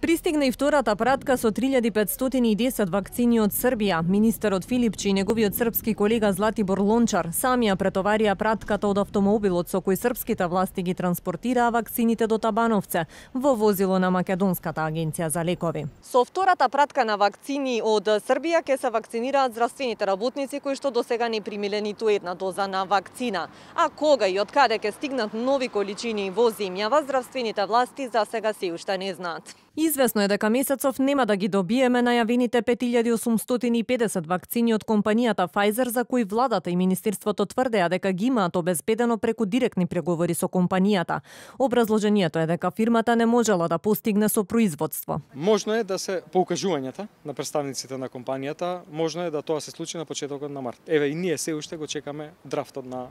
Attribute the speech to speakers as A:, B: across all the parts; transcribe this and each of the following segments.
A: Пристигна и втората пратка со 3510 вакцини од Србија. Министерот Филипчи и неговиот српски колега Златибор Лончар сами ја претоварија пратката од автомобилот со кој српските власти ги транспортираа вакцините до Табановце во возило на Македонската агенција за лекови. Со втората пратка на вакцини од Србија ќе се вакцинираат здравствените работници кои што досега не примиле ниту една доза на вакцина. А кога и од каде ќе стигнат нови количини во земјава, здравствените власти за сега се уште не знаат. Известно е дека месецов нема да ги добиеме најавените 5850 вакцини од компанијата Pfizer, за кои владата и министерството тврдеа дека ги имаат обезбедено преку директни преговори со компанијата. Образложението е дека фирмата не можела да постигне со производство.
B: Можно е да се по укажувањата на представниците на компанијата, можно е да тоа се случи на почетокот на март. Еве и ние се уште го чекаме драфтот на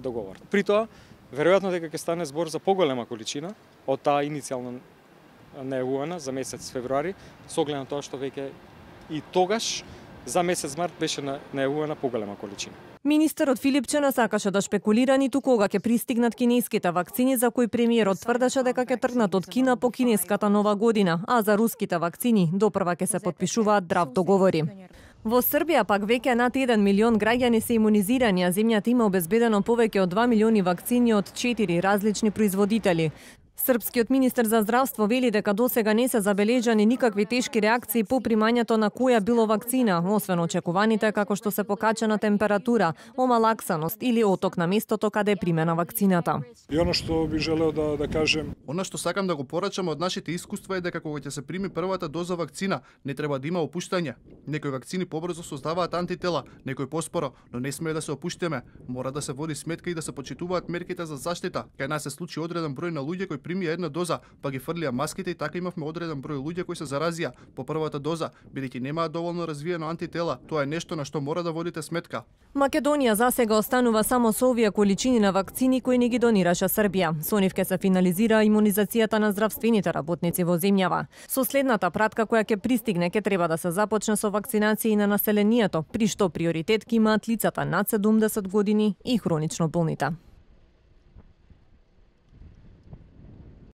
B: договор. При тоа, веројатно дека ќе стане збор за поголема количина од таа иницијално најавувана за месец февруари, со оглед на тоа што веќе и тогаш за месец март беше најавувана поголема количина.
A: Министерот Филипче не сакаше да шпекулира ниту кога ќе пристигнат кинеските вакцини, за кои премиерот тврдеше дека ќе тргнат од Кина по кинеската нова година, а за руските вакцини допрва ќе се потпишуваат драфт договори. Во Србија пак веќе над 1 милион граѓани се имунизирани, а земјата има обезбедено повеќе од 2 милиони вакцини од 4 различни производители. Српскиот министер за здравство вели дека досега не се забележани никакви тешки реакции по примањето на која било вакцина, освен очекуваните како што се покачена температура, омалаксаност или оток на местото каде е примена вакцината.
C: И оно што би желео да кажем,
D: она што сакам да го порачам од нашите искуства е дека кога ќе се прими првата доза вакцина, не треба да има опуштање. Некои вакцини побрзо создаваат антитела, некои поспоро, но не смее да се опуштиме. Мора да се води сметка и да се почитуваат мерките за заштита. Кај нас се случи одреден број на луѓе кои примија една доза, па ги фрлија маските и така имавме одреден број луѓе кои се заразија по првата доза, бидејќи немаат доволно развиено антитела. Тоа е нешто на што мора да водите сметка.
A: Македонија засега останува само со овие количини на вакцини кои не ги донираше Србија. Со нив ќе се финализира имунизацијата на здравствените работници во земјава. Со следната пратка која ќе пристигне ќе треба да се започне со вакцинација на населението, при што приоритет ќе имаат лицата над 70 години и хронично болните.